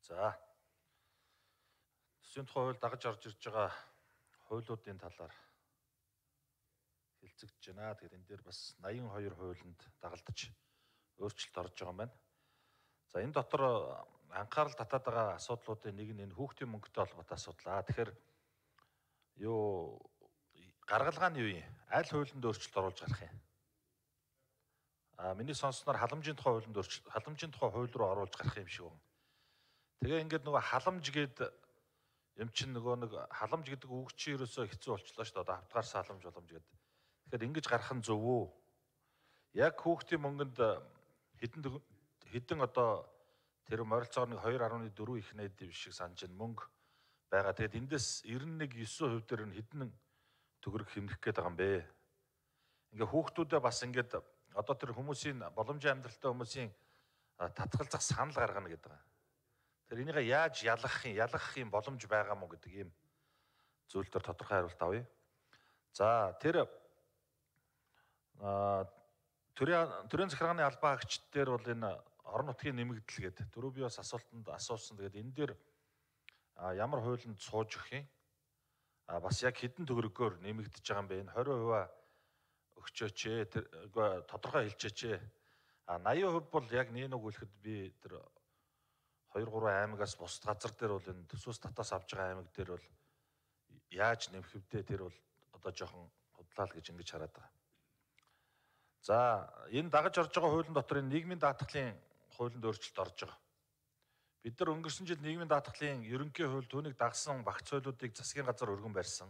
За. Төсвийн тухай хууль дагаж орж ирж байгаа хуулиудын талаар хэлцэгдэж байна. Тэгэхээр энэ дээр бас 82 хуулинд дагалдаж өөрчлөлт орж байгаа юм байна. За энэ дотор анхаарал татаад байгаа асуудлуудын нэг нь энэ хүүхдийн мөнгөтэй холбоотой асуудал. Тэгэхээр гаргалгааны үе аль хуулинд өөрчлөлт оруулж гарах юм? Миний сонссноор халамжийн тухай хуулинд халамжийн тухай хууль руу оруулж гарах юм шиг байна. Тэгээ ингээд нөгөө халамж гэдэг юм чинь нөгөө нэг халамж гэдэг үг чинь ерөөсөө хэцүү болчлоо шүү дээ. Одоо автгаарсан халамж боломж гэдэг. Тэгэхээр ингэж гарах нь зөв үү? Яг хүүхдийн мөнгөнд хэдэн одоо тэр морилцоор нэг 2.4 их найд шиг санаж байна мөнгө байгаа. Тэгээд эндээс 91.9% дээр нь хэдэн төгрөг хэмнэх гээд байгаа юм бэ? Ингээ хүүхдүүдээ бас ингээд одоо тэр хүмүүсийн боломжийн амьдралтай хүмүүсийн татгалзах санал гаргана гэдэг байгаа. Тэр энийг яаж ялгах юм боломж байгаа мó гэдэг ийм зүйл дээр тодорхой хариулт авъя. За тэр төрийн захиргааны албан хаагчид дээр бол энэ орон нутгийн нэмэгдэл гэдэг дөрөв би бас асуултанд асуусан. Тэгээд энэ дээр ямар хуулинд сууж өгөх юм? Бас яг хэдэн төгрөгөөр нэмэгдэж байгаа юм бэ? Энэ 20% өгчөөч тэр тодорхой хэлчээч. 80% бол яг нэг үлэхэд би тэр 2-3 аймагаас бусад газар дээр бол энэ төсвөөс татаас авж байгаа аймаг дээр бол яаж нэмэх вдэ тэр бол одоо жоохон худлаа л гэж ингэж хараад байгаа. За энэ дагаж орж байгаа хуулийн дотор энэ нийгмийн даатгалын хуулинд өөрчлөлт орж байгаа. Бид нар өнгөрсөн жил нийгмийн даатгалын ерөнхий хууль түүнийг дагсан багц хуйлуудыг засгийн газар өргөн барьсан.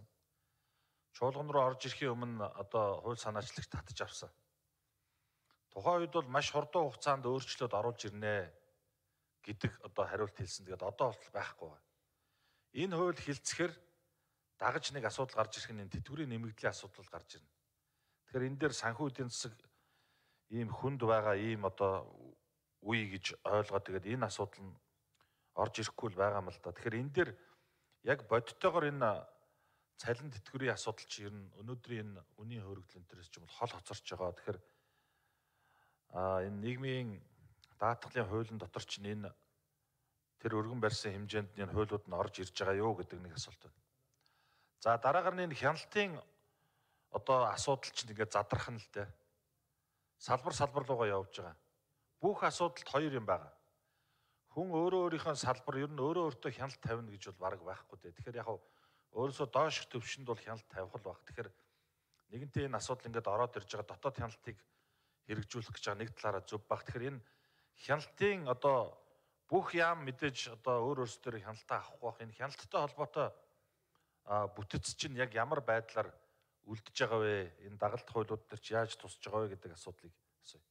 Чуулган руу орж ирэхийн өмнө одоо хууль санаачлагч татж авсан. Тухайн үед бол маш хурдан хугацаанд өөрчлөлт оруулж ирнэ гэдэг одоо хариулт хэлсэн. Тэгээд одоо бол байхгүй байна. Энэ хууль хилцэхэр дагаж нэг асуудал гарч ирэх нь энэ тэтгэврийн нэмэгдлийн асуудал гарч ирнэ. Тэгэхээр энэ дээр санхүү эдийн засаг ийм хүнд байгаа ийм одоо үе гэж ойлгоод тэгээд энэ асуудал нь орж ирэхгүй л байгаа юм л да. Тэгэхээр энэ дээр яг бодтойгоор энэ цалин тэтгэврийн асуудал чи ер нь өнөөдрийн энэ үнийн хөрөгдөл энтерээс ч юм бол хол хоцорч байгаа. Тэгэхээр энэ нийгмийн даатгалын хуулийн дотор ч энэ тэр өргөн барьсан хэмжээнд энэ хуулиуд нь орж ирж байгаа юу гэдэг нэг асуулт байна. За дараагаар нь энэ хяналтын одоо асуудал чинь ингээд задрах нь л дээ. Салбар руугаа явж байгаа. Бүх асуудалд хоёр юм байгаа. Хүн өөрөө өөрийнхөө салбар ер нь өөрөө өөртөө хяналт тавина гэж бол бараг байхгүй дээ. Тэгэхээр яг өөрөөсөө доош төвшөнд бол хяналт тавих л баг. Тэгэхээр нэгэнтээ энэ асуудал ингээд ороод ирж байгаа дотоод хяналтыг хэрэгжүүлэх гэж байгаа нэг талаараа зөв баг. Тэгэхээр энэ хяналтын одоо бүх яам мэдээж одоо өөрөөсдөр хяналтаа авахгүй бах. Энэ хяналттай холбоотой бүтэц чинь яг ямар байдлаар үлдэж байгаа вэ? Энэ дагалт хуулиуд дээр чи яаж тусч байгаа вэ гэдэг асуудлыг асууя.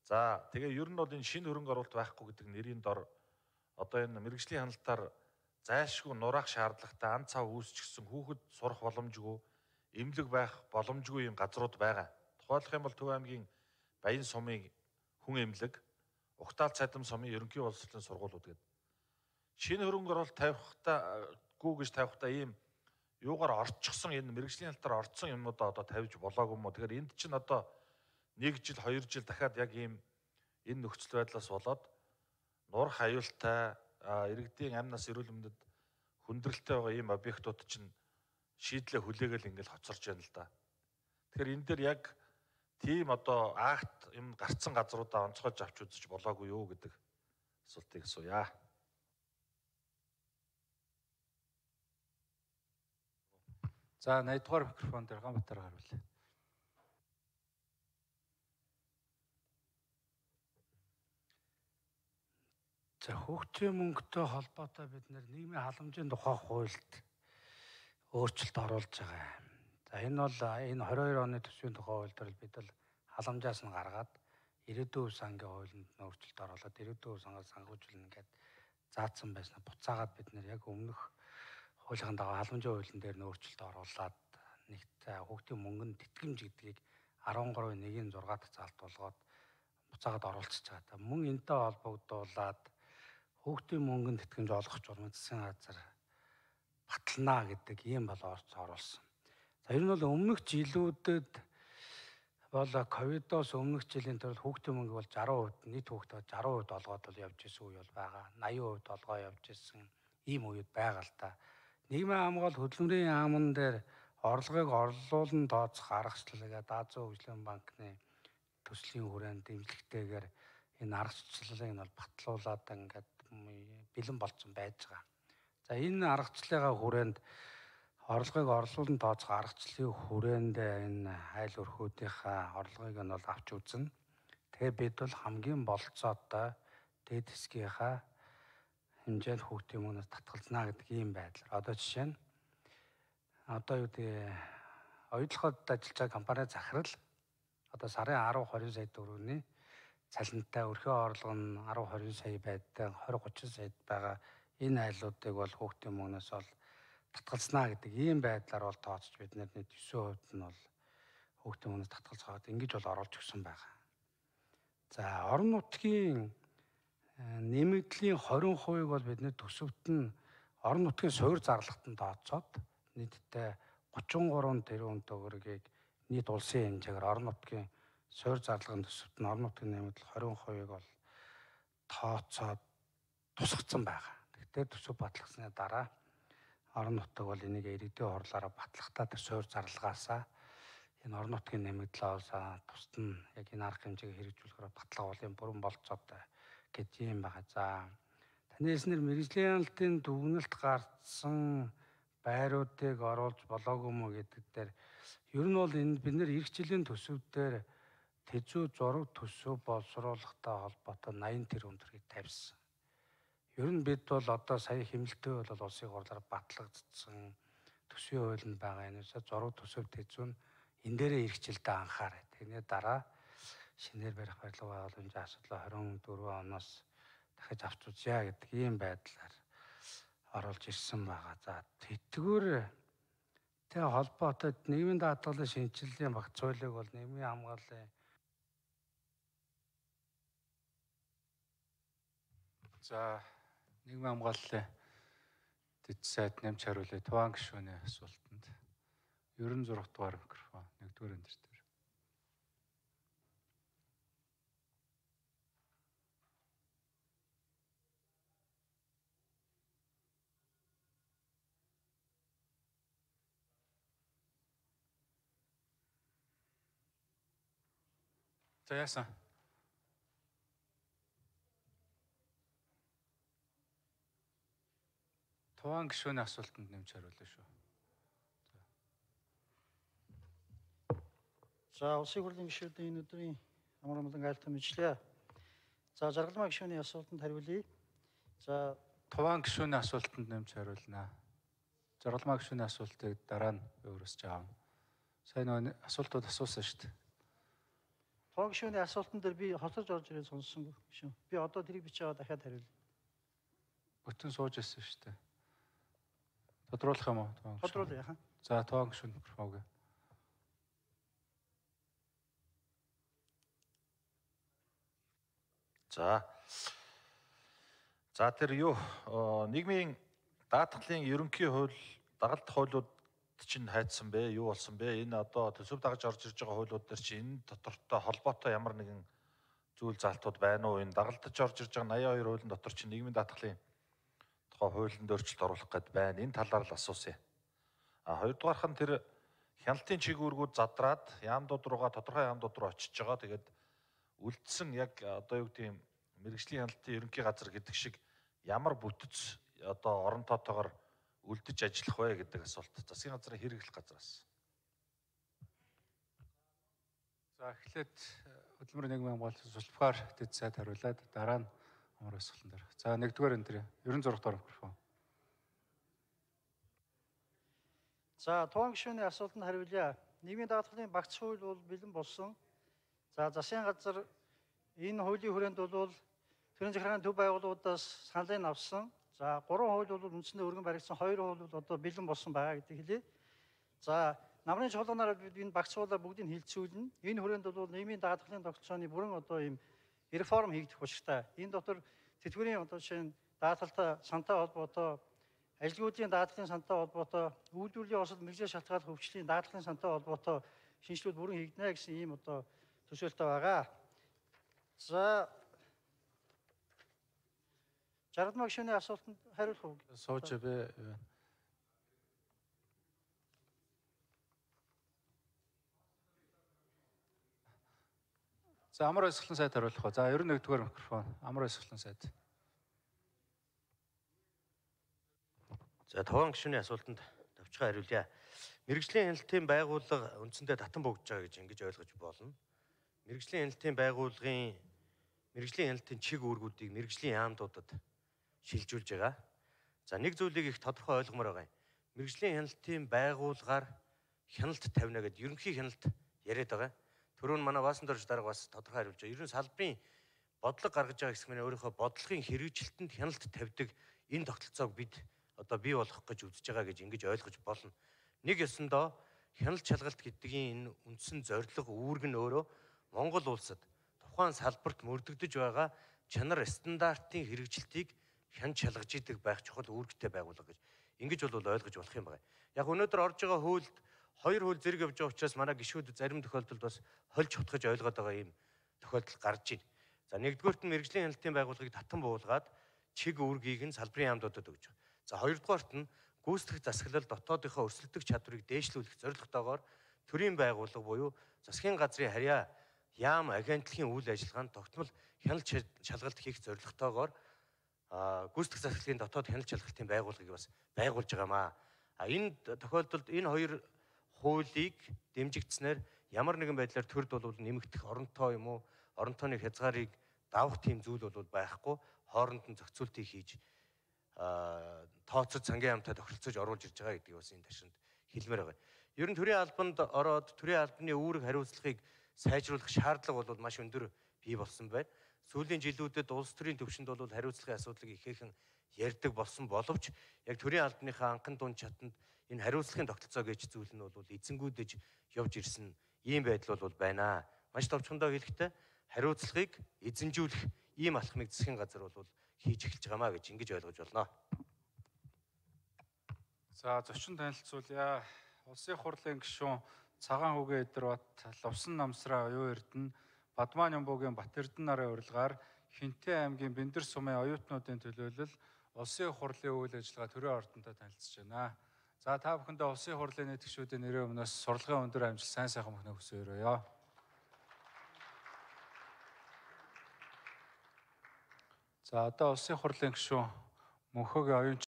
За тэгээ ер нь бол энэ шинэ хөрөнгө оруулалт байхгүй гэдэг нэрийн дор одоо энэ мэргэжлийн хяналтаар зайлшгүй нураах шаардлагатай ан цав үүсчихсэн хүүхэд сурах боломжгүй, эмнэлэг байх боломжгүй юм газрууд байгаа. Тухайлах юм бол Төв аймгийн Баян сумын хүн эмнэлэг, Угтаал цадам сумын ерөнхий боловсролын сургуулиуд гэдэг. Шинэ хөрөнгө оруулалт тавихтаа ийм юугаар орчихсон энэ мэргэжлийн хяналтаар орцсон юмнуудаа одоо тавьж болоогүй мó. Тэгэхээр энд чинь одоо 1 жил 2 жил дахиад яг ийм энэ нөхцөл байдлаас болоод нурах аюултай иргэдийн амнаас эрүүл мэндэд хүндрэлтэй байгаа ийм объектууд чинь шийдлээ хүлээгээл ингээл хоцорж байна л да. Тэгэхээр энэ дээр яг тийм одоо акт юм гарцсан газруудаа онцгойж авч үзэж болоогүй юу гэдэг асуултыг асууя. За 80 дугаар микрофон дээр Ганбатар харуулъя. За хүүхдийн мөнгөтэй холбоотой бид нийгмийн халамжийн тухай хуульд өөрчлөлт оруулж байгаа. За энэ бол энэ 22 оны төсвийн тухай хууль дээр бид л халамжаас нь гаргаад ирээдүйн сангийн хуулинд нь өөрчлөлт оруулаад ирээдүйн сангаас санхүүжүүлнэ гэдээ заасан байснаа буцаагаад бид яг өмнөх хуулийн дагуу халамжийн хуулийн дээр нь өөрчлөлт оруулаад нэгт хүүхдийн мөнгөнд тэтгэмж гэдгийг 13.1-6 дахь заалт болгоод буцаагаад оруулчихж байгаа. Мөн энэтэй холбогдуулаад хүүхдийн мөнгөнд тэтгэмж олгох журмын засгийн газар батална гэдэг ийм бол оруулсан. За ер нь бол өмнөх жилүүдэд бол ковидоос өмнөх жилийн төрөл хүүхдийн мөнгө бол 60%, нийт хүүхдээ 60% олгоод бол явж исэн үе бол байгаа. 80% олгоо явж исэн ийм үед байгаа л та. Нийгмийн хамгаалалт хөдөлмөрийн яамн дээр орлогыг орлуулан тооцох аргачлалыг Азийн хөгжлийн банкны төслийн хүрээнд дэмжлэгтэйгээр энэ аргачлалыг нь бол батлуулаад ингээд бэлэн болсон байж байгаа. За энэ аргачлалынхаа хүрээнд орлогыг орлуулан тооцох аргачлалын хүрээнд энэ айл өрхүүдийнхаа орлогыг нь бол авч үзнэ. Тэгээ бид бол хамгийн болцоотой дэд хэсгийнхаа хэмжээнд хүүхдийн мөнгнөөс татгалзнаа гэдэг ийм байдлаар. Одоо жишээ нь одоо юу гэдэг оюутлахад ажиллаж байгаа компани захирал одоо сарын 10-20 сая төгрөгийн цалинтай өрхөө орлого нь 10-20 сая байдаг, 20-30 сая байгаа энэ айлуудыг бол хүүхдийн мөнгнөөс бол татгалзнаа гэдэг ийм байдлаар бол тооцож бид нэг 9% нь бол хүүхдийн мөнгнөөс татгалзахад ингэж бол оруулж өгсөн байгаа. За орон нутгийн нэмэгдлийн 20% бол бидний төсөвт нь орон нутгийн суурь зарлагт нь тооцоод нийтдээ 33 тэрбум төгрөгийг нийт улсын хэмжээгээр орон нутгийн суурь зарлагын төсөвт нь орон нутгийн нэмэгдэл 20%-ийг бол тооцоод тусгацсан байгаа. Тэгэхээр төсөв батлагдсаны дараа орон нутаг бол энийг иргэдийн хурлаараа батлахтаа тэр суурь зарлагаасаа энэ орон нутгийн нэмэгдлээс тусад нь яг энэ арга хэмжээг хэрэгжүүлэхээр батлага бол юм бүрэн болцоотой гэж юм байгаа. За таны хэлснээр мэргэжлийн хяналтын дүгнэлт гарсан байруудыг оруулж болоогүй мө гэдэг дээр ер нь бол энэ бид нэр эх жилийн төсөв дээр тэжүү зураг төсөв боловсруулахтай холбоотой 80 тэрбум төгрөгийг тавьсан. Ер нь бид бол одоо сая хэмнэлттэй бол улсын хурлаар батлагдсан төсвийн хуулинд байгаа энэ зураг төсөв тэжүү нь энэ дээрээ эх жилдээ анхаарай. Тэрний дараа шинээр барих барилга байгууламжийн асуудлаа 24 оноос дахиж авч үзье гэдэг ийм байдлаар оруулж ирсэн байгаа. За тэтгэвртэй холбоотой нийгмийн даатгалын шинжилгээний багц хуулийг бол нийгмийн хамгааллын нийгмийн хамгааллын дэд сайд нэмж хариулъя. Туван гишүүний асуултанд 96 дугаар микрофон 1-р энэ дээр. За яасан? Туван гишүүний асуултанд нэмж хариулъя шүү. За улсын хурлын гишүүдийн энэ өдрийн амар амгалан айлтгын мэдлээ. За жаргалмаа гишүүний асуултанд хариулъя. За Туван гишүүний асуултанд нэмж хариулнаа. Жаргалмаа гишүүний асуултыг дараа нь өөрөөсч аавна. Сайн нэг асуултууд асуусан шүү дээ. Туван гишүүний асуултан дээр би хоцорж орж ирээд сонссонгүй гишүүн. Би одоо тэрийг бичиж аваад дахиад хариулъя. Бүтэн сууж ирсэн шүү дээ. Тодруулах юм уу? Тодруулъя яхан. За Туван гишүүн микрофон өгье. За тэр юу нийгмийн даатгалын ерөнхий хууль дагалдах хуулиуд чинь хайцсан бэ? Юу болсон бэ? Энэ одоо төсөв дагаж орж ирж байгаа хуулиуд дээр чи энэ дотортой холбоотой ямар нэгэн зүйл залтууд байна уу? Энэ дагалдаж орж ирж байгаа 82 хуулийн дотор чи нийгмийн даатгалын тухай хуулинд өөрчлөлт оруулах гээд байна. Энэ талаар л асуусан. Хоёрдугаарх нь тэр хяналтын чиглэлүүд задраад яамдууд руугаа тодорхой яамдууд руу очиж байгаа. Тэгээд үлдсэн яг одоо юу гэдэг юм мэргэжлийн хяналтын ерөнхий газар гэдэг шиг ямар бүтэц одоо орон тоотоогоор үлдэж ажиллах вэ гэдэг асуулт. Засгийн газрын хэрэглэх газраас. За эхлээд хөдөлмөрийн нийгмийн хамгаалалт сулбгаар дэд сайд хариулаад дараа нь амар асуултан дээр. За 1-р энэ дээр 96 дугаар микрофон. За Туван гишүүний асуултанд хариулъя. Нийгмийн даатгалын багц хууль бол бэлэн болсон. За засгийн газар энэ хуулийн хүрээнд бол төрийн захиргааны төв байгууллагуудаас саналыг авсан. За 3 хууль бол үндсэндээ өргөн баригдсан, 2 хууль бол одоо бэлэн болсон байгаа гэдэг хэлье. За намрын чуулганаар бид энэ багц хуулиар бүгдийг хилцүүлнэ. Энэ хүрээнд бол нийгмийн даатгалын тогтолцооны бүрэн одоо ийм реформ хийгдэх учиртай. Энэ дотор тэтгэврийн одоо жишээ нь даатгалтай сантай холбоотой, ажилгүйдийн даатгалын сантай холбоотой, үйлдвэрлэлийн осол мэргэжлийн шалтгааллах хөвчлийн даатгалын сантай холбоотой шинжилгүүд бүрэн хийгднэ гэсэн ийм одоо төсөөлтөй байгаа. За 60 гишүүний асуултанд хариулах уу? Сууж бэ. За амар өсгөлэн сайд хариулах уу. За 91-р микрофон. Амар өсгөлэн сайд. За 5 гишүүний асуултанд давчхан хариулъя. Мэргэжлийн хяналтын байгууллага үндсэндээ татан богдож байгаа гэж ингэж ойлгож болно. Мэргэжлийн хяналтын байгууллагын мэргэжлийн хяналтын чиг үүргүүдийг мэргэжлийн яамдуудад шилжүүлж байгаа. За нэг зүйлийг их тодорхой ойлгомоор байгаа юм. Мэргэжлийн хяналтын байгууллагаар хяналт тавина гэдэг ерөнхий хяналт яриад байгаа. Түрүүн манай Баасан дорж дарга бас тодорхой хариулж байгаа. Ерөн салбарын бодлого гаргаж байгаа хэсэг мань өөрийнхөө бодлогын хэрэгжилтэнд хяналт тавьдаг энэ тогтолцоог бид одоо бий болгох гэж үзэж байгаа гэж ингэж ойлгож болно. Нэг ёсондоо хяналт шалгалт гэдгийн энэ үндсэн зорилго үүрэг нь өөрөө Монгол улсад тухайн салбарт мөрдөгдөж байгаа чанар стандартын хэрэгжилтийг хяналт шалгаж идэг байх чухал үүрэгтэй байгууллага гэж ингэж бол ойлгож болох юм байна. Яг өнөөдөр орж байгаа хуульд хоёр хууль зэрэг явж байгаа учраас манай гишүүд зарим тохиолдолд бас хольж хутгаж ойлгоод байгаа юм тохиолдол гарч байна. За нэгдүгээрт нь мэргэжлийн хяналтын байгууллагыг татан буулгаад чиг үүргийг нь салбарын яамдуудад өгж байгаа. За хоёрдугаарт нь гүйцэтгэх засаглал дотоодынхоо өрсөлдөх чадварыг дээшлүүлэх зорилготойгоор төрийн байгууллага буюу засгийн газрын харьяа яам агентлагийн үйл ажиллагаанд тогтмол хяналт шалгалт хийх зорилготойгоор гүйцэтгэх засаглалын дотоод хяналт шалгалтын байгууллагыг бас байгуулж байгаамаа. Энэ тохиолдолд энэ хоёр хуулийг дэмжигдснээр ямар нэгэн байдлаар төрд бол нэмэгдэх оронтой юм уу, оронтойны хязгаарыг давах тийм зүйл бол байхгүй, хооронд нь зохицуултыг хийж тооцож сангийн яамтай тохиролцож оруулж ирж байгаа гэдгийг бас энэ ташинд хэлмээр байгаа. Ер нь төрийн албанд ороод төрийн албаны үүрэг хариуцлагыг сайжруулах шаардлага бол маш өндөр бий болсон байна. Сүүлийн жилүүдэд улс төрийн түвшинд бол хариуцлагын асуудлыг ихээхэн ярьдаг болсон боловч яг төрийн албаныхаа анхан дунд чатанд энэ хариуцлагын тогтолцоо гэж зүйл нь бол эзэнгүүдэж явж ирсэн ийм байдал бол байна. Маш товчхондоо хэлэхдээ хариуцлагыг эзэнжүүлэх ийм алхмыг засгийн газар бол хийж эхэлж байгаамаа гэж ингэж ойлгож байна. За зочин танилцуулъя. Улсын хурлын гишүүн Цагаан хүүгээ Эдэрбат, Лувсан намсраа Оюун Эрдэнэ, Бадмаа Нямбуугийн Бат Эрдэнэ нарын урилгаар Хинтээ аймгийн Бэндэр сумын оюутнуудын төлөөлөл улсын хурлын үйл ажиллагаа төрийн ордонтой танилцж байна. За та бүхэндээ улсын хурлын нийт гишүүдийн нэрийн өмнөөс сурлагын өндөр амжилт сайн сайхан мөхнө хүсье өрөөё. За одоо улсын хурлын гишүүн мөнхөгийн оюун